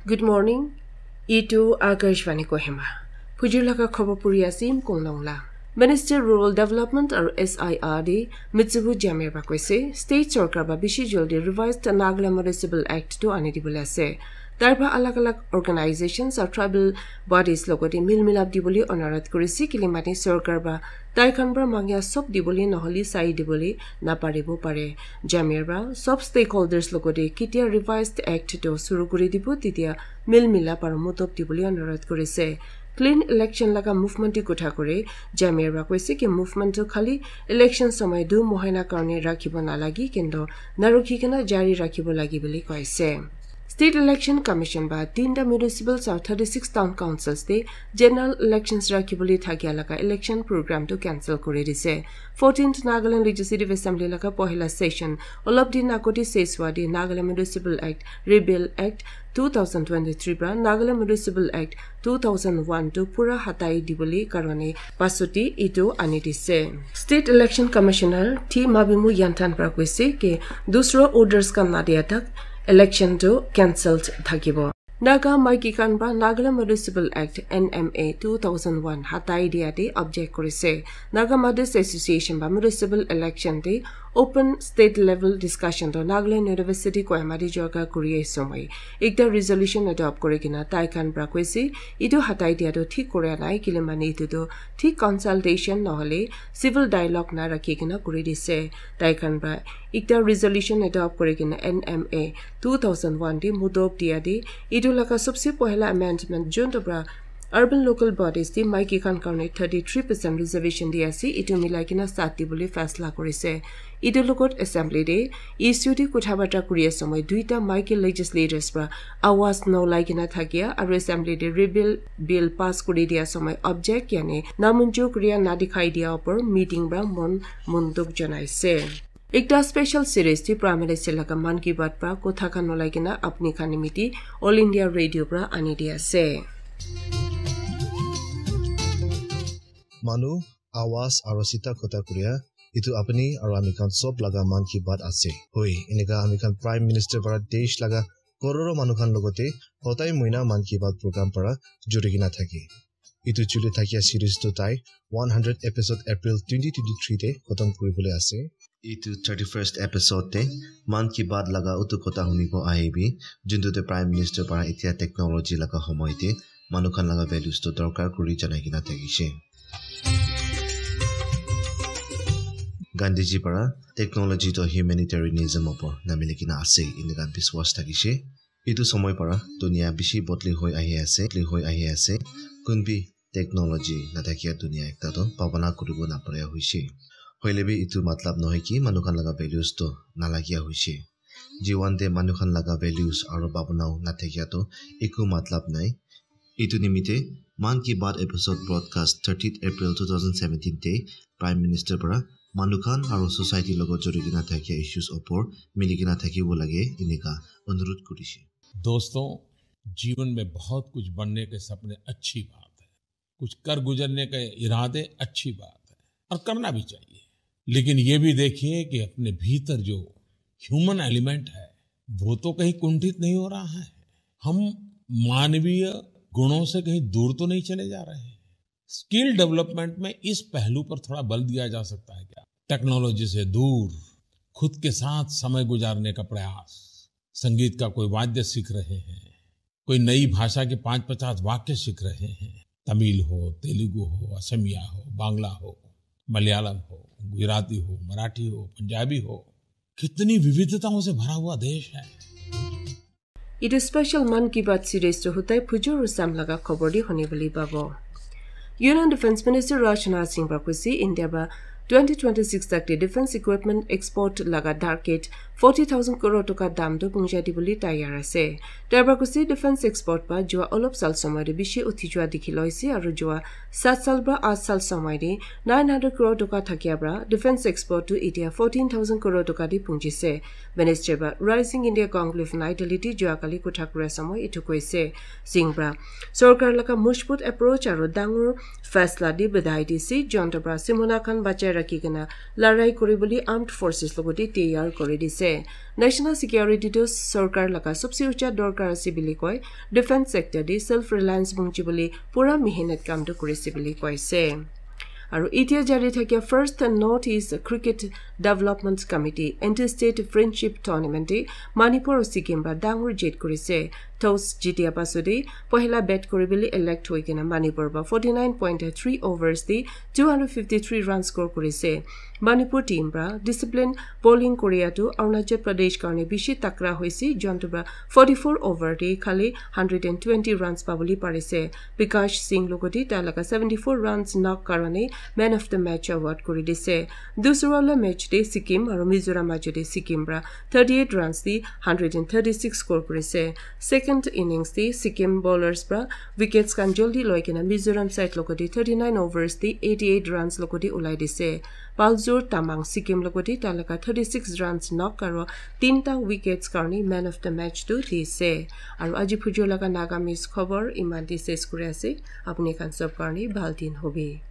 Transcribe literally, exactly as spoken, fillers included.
Good morning. Itu Akashvani Kohima. Phujur laga khobor puri ase Im Kong Nong la. Minister Rural Development aru S I R D Mitsubu Jamir ba koise, state sorkar ba bishi joldi revised Nagaland Municipal Act tu ani dibole ase. Tarba alag alag organizations aru tribal bodies logote mil milap dibole onurodh korise, kile mane sorkar ba tai khan para mangya sob dibole nohole sai dibole naparibo pare. Jamir ba sob stakeholders logote ketia revised act to suru kuri dibo, tetia mil milap aru motob dibole onurodh korise. Clean election laga movement te kotha kore, Jamir ba koise ki movement tu khali election samay du mohina karone rakhibo nalagi, kintu narukhi kena jari rakhibo lagi bole koise. State Election Commission ba tinta municipal aru thirty-six town councils te general elections rakhibole thakia laga election program tu cancel kuri dise. Fourteenth Nagaland Legislative Assembly laga pohila session olop din agote ses hua te Nagaland Municipal Act, Repeal Act two thousand twenty-three pra Nagaland Municipal Act two thousand one tu pura hatai dibole karone pasoti itu ani dise. State Election Commissioner T Mabimu Yanthan pra koise ki dusra orders khan nadia tak election tu cancelled thakibo. Naga maiki khan pra Nagaland Municipal Act, N M A, two thousand one hatai dia te object korise. Naga Mothers Association ba municipal election te open state level discussion to Nagaland University Kohima te joga kuri ase moi. Ekta resolution adopt kuri kena tai khan pra koise, itu hatai dia to thik kura nai, kile mane itu to thik consultation nohole civil dialogue na rakhi kena kuri dise. Tai khan pra ekta resolution adopt kuri kena N M A two thousand one te mudob dia te itu laga sobse pohila amendment jun to pra urban local bodies te maiki khan karone thirty-three percent reservation di ase, itu milai kena sat dibole fasla korise. Itu logot assembly te issue te kotha barta kuri ase moi duita maiki legislators pra awaz nolai kena thakia aru assembly te repeal bill pass kuri dia ase moi object yani namunjur kuria na dikhai dia opor meeting pra mon monduk janaise. Ekta special series te Prime Minister laga Mann Ki Baat pra kotha khan ulai kena apni khan nimiti All India Radio pra ani di ase. Manu, awaz aro sita kotha kuria, itu apni aro ami khan sob laga Mann Ki Baat ase. Hoi, eneka ami khan Prime Minister para desh laga kororo manu khan logote hotai moina Mann Ki Baat program para juri kena thake. Itu chuli thakia series tu tai one hundred episode April twenty twenty-three te khotom kuribole ase. Itu thirty-first episode te Mann Ki Baat laga utu kotha hunibo ahibi, juntu te Prime Minister para etia technology laga homoy te manu khan laga values tu dorkar kuri janai kena thakishe. Gandhiji para technology to humanitarianism opor namili kena ase, enika biswas thakishe. Itu somoy para dunia bishi bodli hoi ahi ase, bodli hoi ahi ase. Kun bi technology nathakia dunia ekta toh bhabana kuribo naparia hoishe. Hoile bi itu matlab nohoi ki manu khan laga values toh nalagia hoishe. Jiwan te manu khan laga values aro bhabana nathakia toh eku matlab nai. Itu nimite Mann Ki Baat episode broadcast thirtieth April two thousand seventeen te Prime Minister para manu khan aro society logot jori kena thakia issues opor mili kena thakibo lage enika onurudh kurishe. दोस्तों, जीवन में बहुत कुछ बनने के सपने अच्छी बात है, कुछ कर गुजरने के इरादे अच्छी बात है और करना भी चाहिए, लेकिन ये भी देखिए कि अपने भीतर जो ह्यूमन एलिमेंट है वो तो कहीं कुंठित नहीं हो रहा है, हम मानवीय गुणों से कहीं दूर तो नहीं चले जा रहे हैं। स्किल डेवलपमेंट में इस पहलू पर थोड़ा बल दिया जा सकता है क्या? टेक्नोलॉजी से दूर खुद के साथ समय गुजारने का प्रयास। संगीत का कोई वाद्य सीख रहे हैं, कोई नई भाषा के पांच पचास वाक्य सीख रहे हैं, तमिल हो, तेलुगु हो, असमिया हो, बांग्ला हो, मलयालम हो, गुजराती हो, मराठी हो, पंजाबी हो, कितनी विविधताओं से भरा हुआ देश है। Itu special Mann Ki Baat series tu hutai phujur ru sam laga khobor di huni bole pabo. Union Defence Minister Rajnath Singh para koise India para twenty twenty-six tak te defence equipment export laga target forty thousand crore toka dam tu pungja dibole tayar ase. Tai para koise defence export para jua olop sal somoy te bishi uthi jua dikhi loise aru jua sat sal para aath sal somoy te nine hundred crore toka thakia para defence export tu etia fourteen thousand crore toka te pungjise. Minister para Rising India Conclave Nai Delhi te jua kali kotha kura somoy itu koise. Singh para sorkar laga mojbut approach aru dangor fasla di badhai dise, junta para simona khan bachai rakhi kena larai kuri bole armed forces logote tayar kuri dise. National security tu sorkar laga sobse ucha dorkar ase bili koi, defense sector de self reliance bungchi bili pura mehenat kam tu kurise bili koise. Aru itia jari thakia first North East Cricket Development Committee Inter-State Friendship Tournament de Manipur aru Sikkim para dangor jit kurise. Toss jitia pasode pohila bat kuribole elect hoi kena Manipur para forty nine point three overs de two hundred fifty three runs score kurise. Manipur team para discipline bowling koria tu Arunachal Pradesh karne bishi takra hoise, jontu para forty four over de khali hundred and twenty runs pabole parise. Bikash Singh logodi tai laga seventy four runs knock karone man of the match award kuri dise. Dusra la match de Sikkim aru Mizoram majo de Sikkim para thirty eight runs de hundred and thirty six score kurise. Second innings de Sikkim bowlers para wickets khan joldi loi kena Mizoram side logodi thirty nine overs de eighty eight runs logodi ulai dise. Paljor Tamang Sikkim logodi tai laga thirty six runs knock aru tinta wickets karne man of the match tu dise. Aru aji phujo laga Nagamese khobor iman de ses kuri ase. Apni khan sob karne bhal din hobi.